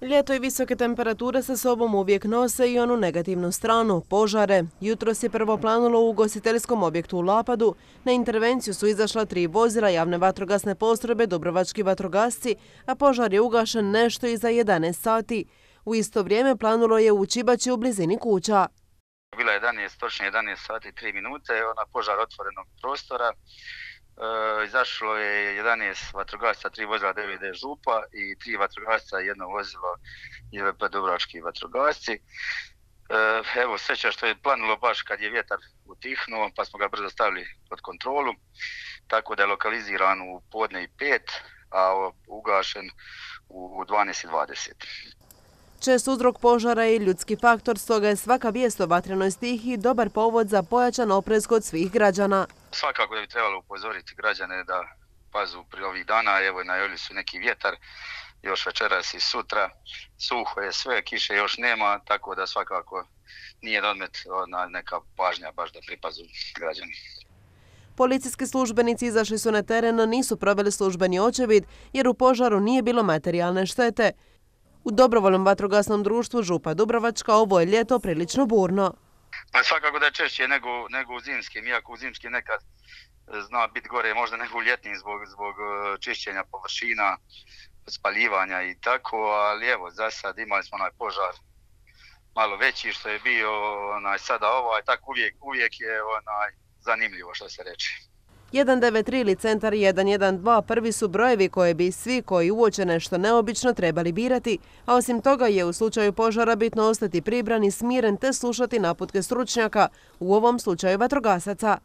Ljeto i visoke temperature sa sobom uvijek nose i onu negativnu stranu, požare. Jutros je prvo planulo u ugostiteljskom objektu u Lapadu. Na intervenciju su izašla 3 vozila javne vatrogasne postrojbe Dubrovački vatrogasci, a požar je ugašen nešto iza 11 sati. U isto vrijeme planulo je u Čibaći u blizini kuća. Bila je 11 sati 3 minute, požar otvorenog prostora. Izašlo je 11 vatrogasaca, 3 vozila DVD Župa i 3 vatrogasca i jedno vozilo JVP Dubrovački vatrogasci. Evo, sreća što je planulo baš kad je vjetar utihnuo, pa smo ga brzo stavili pod kontrolu, tako da je lokaliziran u podne i 5, a ugašen u 12:20. Čest uzrok požara je ljudski faktor, stoga je svaka vijest o vatrenoj stihiji dobar povod za pojačan oprez kod svih građana. Svakako da bi trebalo upozoriti građane da pazu pri ovih dana, evo najavili su neki vjetar, još večeras i sutra, suho je sve, kiše još nema, tako da svakako nije na odmet neka pažnja baš da pripazu građani. Policijski službenici izašli su na teren, no nisu proveli službeni očevid jer u požaru nije bilo materijalne štete. U dobrovoljnom vatrogasnom društvu Župa Dubrovačka ovo je ljeto prilično burno. Svakako da je češće nego u zimskim, iako u zimskim nekad zna biti gore možda nego u ljetnim zbog čišćenja površina, spaljivanja i tako, ali evo za sad imali smo onaj požar malo veći što je bio sada tako uvijek je zanimljivo što se reče. 193 ili centar 112 prvi su brojevi koje bi svi koji uoče nešto neobično trebali birati, a osim toga je u slučaju požara bitno ostati pribran i smiren te slušati naputke stručnjaka, u ovom slučaju vatrogasaca.